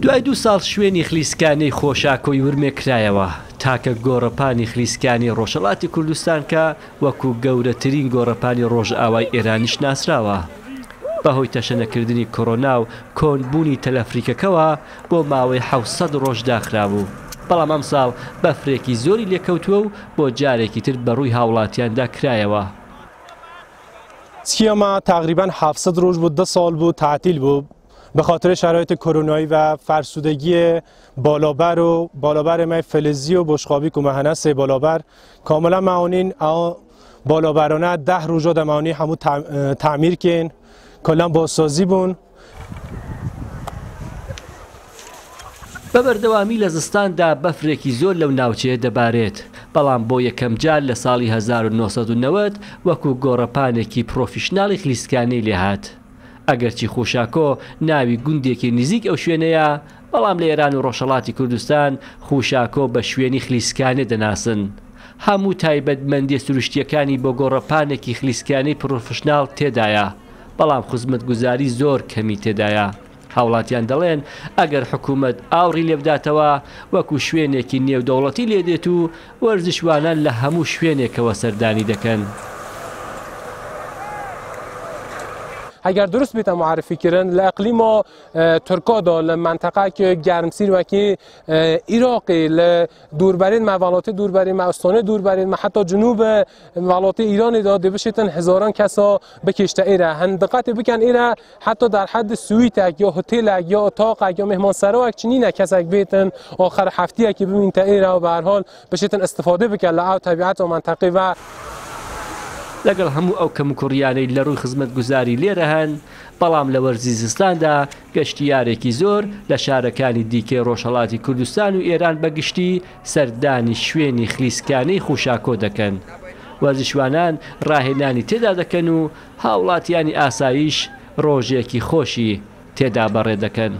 دوای دوو ساڵ شوێنی خلیسکانەی خۆشاکۆی ورمێ کرایەوە، تاکە گۆڕەپانی خلیسکانەی ڕۆژهەڵاتی کوردستان کە وەکو گەورەترین گۆڕەپانی ڕۆژئاوای ئێرانیش ناسراوە. بەهۆی تەشەنەکردنی کۆرۆنا و کۆنبوونی تەلەفریکەکەوە بۆ ماوەی 700 ڕۆژ داخرابوو، بەڵام ئەمساڵ بەفرێکی زۆری لێکەوتووە و بۆ جارێکی تر بەڕووی هاوڵاتیاندا کرایەوە. سیما تقریبا 700 روز بود، 2 سال بود تعطیل بود به خاطر شرایط کرونایی و فرسودگی بالابر و بالابر ما فلزی و بشقابی که مهنه سه بالابر کاملا معاونین بالابرانه 10 روزا در معاونی همو تعمیر کن کلا بازسازی بون. بە بەردەوامی لە زستاندا بەفرێکی زۆر لەو ناوچەیە دەبارێت، بەڵام بۆ یەکەمجار لە ساڵی 1990 وەکو گۆڕەپانێکی پرۆفیشناڵی خلیسکانەی لێهات. ئەگەرچی خوشاکۆ ناوی گوندێکی نزیک ئەو شوێنەیە، بەڵام لە ئێران و ڕۆژهەڵاتی کوردستان خوشاکۆ بە شوێنی خلیسکانێ دەناسن. هەموو تایبەتمەندیە سروشتیەکانی بۆ گۆڕەپانێکی خلیسکانەی پرۆفشناڵ تێدایە، بەڵام خزمەتگوزاری زۆر کەمی تێدایە. هاوڵاتیان دەڵێن ئەگەر حکوومەت ئاوڕی لێبداتەوە وەکو شوێنێکی نێودەوڵەتی لێدێت و وەرزشوانان لە هەموو شوێنێکەوە سەردانی دەکەن. اگر درست بیت معرفی کردن ل اقلیم ترکا دا ل منطقه که گرمسیر و که عراقی ل دوربرین مولات دوربرین ما استانه دوربرین ما حتی جنوب ولات ایران دا بشیتن هزاران کسا بکشته ایره هن دقت بکن ایره حتی در حد سویت یا هتل یا اتاق یا مهمانسرا چنین کسک بیتن آخر هفته که ببین تا ایره و به هر حال بشیتن استفاده بکن ل طبیعت و منطقه و لەگەڵ هەموو ئەو کەموکوڕیانەی لە ڕووی خزمەتگوزاری لێرە هەن، بەڵام لە وەرزی زستاندا گەشتیارێکی زۆر لە شارەکانی دیکەی ڕۆژهەڵاتی کوردستان و ئێران بە گشتی سەردانی شوێنی خلیسکانەی خوشاکۆ دەکەن. وەرزشوانان ڕاهێنانی تێدا دەکەن و هاوڵاتیانی ئاساییش ڕۆژێکی خۆشی تێدا بەڕێ دەکەن.